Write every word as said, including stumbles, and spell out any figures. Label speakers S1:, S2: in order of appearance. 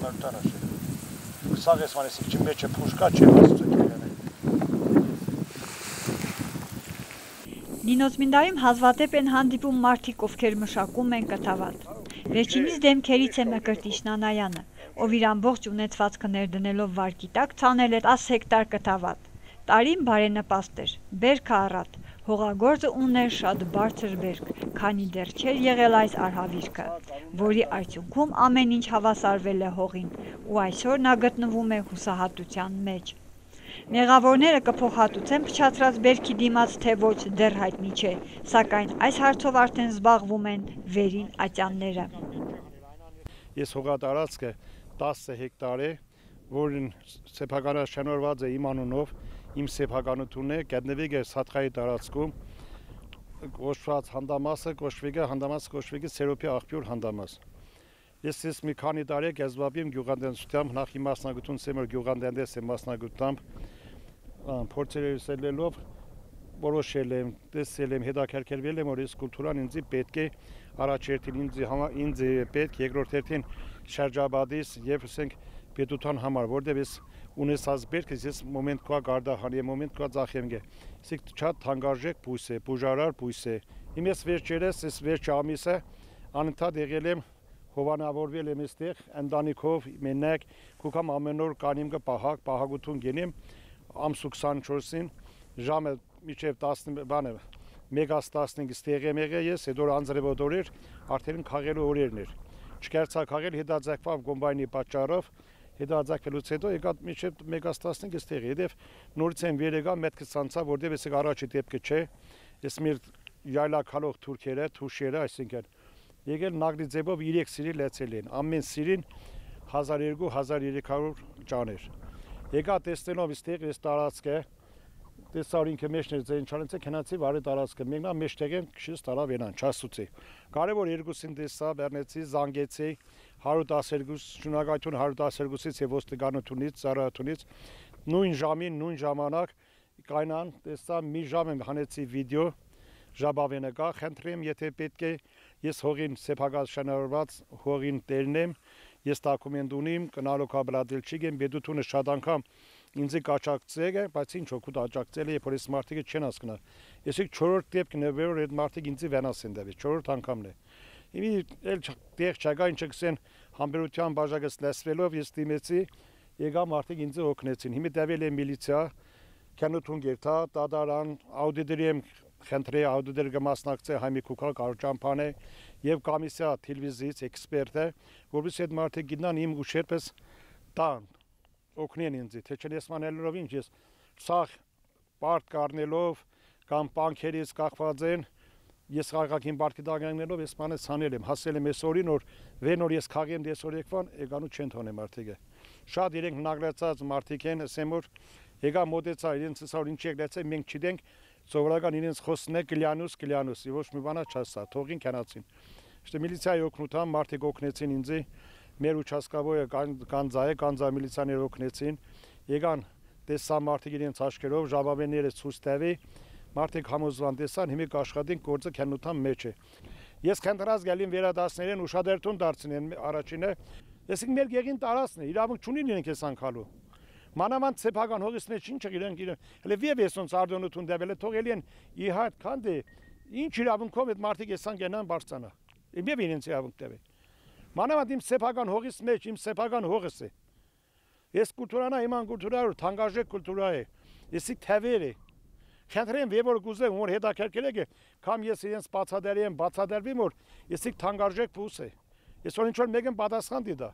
S1: մարտանաշ։ Սաղ ես մանեսիկ չի մեջը փուշկա չեմ ասում դերանը։
S2: Նինոծմինդայում հազվադեպ են հանդիպում մարդիկ, ովքեր մշակում են կթավատ։ Վերջինիս դեմքերից է Մկրտիչ Նանայանը, ով իր ամբողջ ունեցվածքը ներդնելով վարկի տակ ցանել էր տասը հեկտար կթավատ։ Տարին բարենպաստ էր, բերքը առատ, հողագործը ուներ շատ բարձր բերք, քանի դեռ չէր եղել այս արհավիրքը, որի արդյունքում ամեն ինչ հավասարվել է հողին, ու այսօր նա գտնվում է հուսահատության մեջ։ Մեղավորները կփոխհատուցեն փչացրած բերքի դիմաց, թե ոչ դեռ հայտնի չէ, սակայն այս հարցով արդեն զբաղվում են վերին ատյանները։
S1: Ես հողատարածքը տասը հեկտար է, որին սեփականաշնորհված է իմ անունով, իմ սեփականությունն է, գտնվի է Սաթխայի տարածքում, կոչված հանդամասը, կոչվի է հանդամասը կոչվի է Սերոպի աղբյուր հանդամաս։ Ես ես մի քանի տարի գազբաբիմ գյուղատնտեսությամբ, նախ իմ մասնագիտություն սեմր գյուղատնտես եմ մասնագիտությամբ, փորձերելով որոշել եմ, տեսել եմ, հետաքրքրվել եմ, որ այս կուլտուրան ինձ պետք է առաջերտին ինձ ինձ պետք երկրորդ հերթին շրջաբադիս եւ ասենք պետության համար, որտեղ ես ունեցած բերքս ես մոմենտ կա գարդահանի եմ, մոմենտ կա ծախեմ գե։ Իսկ շատ թանկարժեք բույս է, բուժարար բույս է։ Իմ ես վերջերս, ես վերջ ամիսը անընդհատ եղել եմ հովանավորվել եմ այստեղ ընտանիքով մենակ կուքամ ամեն օր կանիմ կը պահակ պահագություն գենեմ ամսու քսանչորսին ժամը միջև տասը բանը մեգաս տասնհինգ ստեղ եմ եղել ես հետո անձրևոտ օրեր արդեն քաղելու օրերն էր չկարծա քաղել հետաձգվավ կոմբայնի պատճառով հետաձգվելուց հետո եկա միջև մեգաս տասնհինգ ստեղ հետև նորից եմ վեր եկա մետքս ցանցա որտեղ ես առաջի դեպքը չէ ես մեր յայլաքալող թուրքերը թուշերը այսինքն եկել նագրի ձևով երեք սիրի լեցել են, ամեն սիրին հազար երկու հազար երեք հարյուր ճաներ։ Եկա տեսնելով իստեղ ես տարածքը, տեսար ինքը մեջներ ձեն չանեցե քնացի վարի տարածքը, մենքնա մեջտեղ են քշից տարավ ենան, չասուցի։ Կարևոր երկուսին տեսա, բեռնեցի, զանգեցի, հարյուր տասներկու շնորհակալություն հարյուր տասներկուսից եւ ոստիկանությունից, ծառայությունից նույն ժամին, նույն ժամանակ կայնան, տեսա մի ժամ եմ հանեցի վիդեո Ժաբավենը կա, խնդրեմ, եթե պետք է ես հողին սեփականաշնորհված հողին տերն եմ, ես դոկումենտ ունիմ, կնալու կաբլադելչիկ եմ, պետությունը շատ անգամ ինձ կաճակցել է, բայց ինչ օգուտ աջակցել է, որ ես մարդիկը չեն հասկնա։ Ես չորրորդ դեպքն է, որ այդ մարդիկ ինձ վենաս են դեպի, չորրորդ անգամն է։ Իմի էլ տեղ չկա, ինչ կսեն համբերության բաժակս լսվելով ես դիմեցի, եկա մարդիկ ինձ օգնեցին։ Հիմա դավել է միլիցիա, քանութուն գերտա, դադարան, աուդիտորի եմ խնդրի աուդիտոր կմասնակցի հայմի կուքալ կարճամփան է եւ կոմիսիա տելևիզիից էքսպերտ է, որովհետեւ այդ մարդիկ գտնան իմ ուշերպես տան օգնեն ինձ, թե չնեսմանելով ինչ ես սաղ պարտ կառնելով կամ բանկերից կախված են ես խաղաղին բարգի դագանելով ես բանը ցանել եմ, հասել եմ այսօրին որ վեն որ ես խաղեմ դեսօր եկվան եկանու չեն թոնե մարդիկը շատ իրենք նագրացած մարդիկ են ասեմ որ եկա մոտեցա իրենց ասոր ինչ եկլեցե մենք չդենք Սովորական իրենց խոսն է կլյանուս կլյանուս, ոչ մի բանա չասա, թողին քանացին։ Işte միլիցիայի օգնությամբ մարդիկ օգնեցին ինձ, մեր ուչասկավորը կանձայը, կանձա միլիցիաները օգնեցին, եկան տեսա մարդիկ իրենց աչքերով, ժաբավենները ցույց տվի, մարդիկ համոզվան տեսան, հիմա կաշխատեն գործը քանության մեջ է։ Ես քանդրած գալին վերադասներին ուշադրություն դարձնեն առաջինը, եսիկ մեր գեղին տարածն է, իրավունք չունին իրենք էս անցալու։ Մանավանդ սեփական հողից մեջ ինչ իրենք իրենք հələ վիևեսոնց արդյունություն դեվել է թողելի են իհատ քանդի ինչ իրավունքով այդ մարդիկ էսան գնան բարձանա իմ եւ իրենց իրավունք դեվե մանավանդ իմ սեփական հողից մեջ իմ սեփական հողս է ես կուլտուրանա իման կուլտուրայով թանկարժեք կուլտուրա է եսի թևեր է խնդրեմ վեվոր գուզեմ որ հետաքրքրել եք կամ ես իրենց բացադերի եմ բացադերվի որ եսի թանկարժեք փուս է ես որ ինչ որ մեկն պատասխան դիտա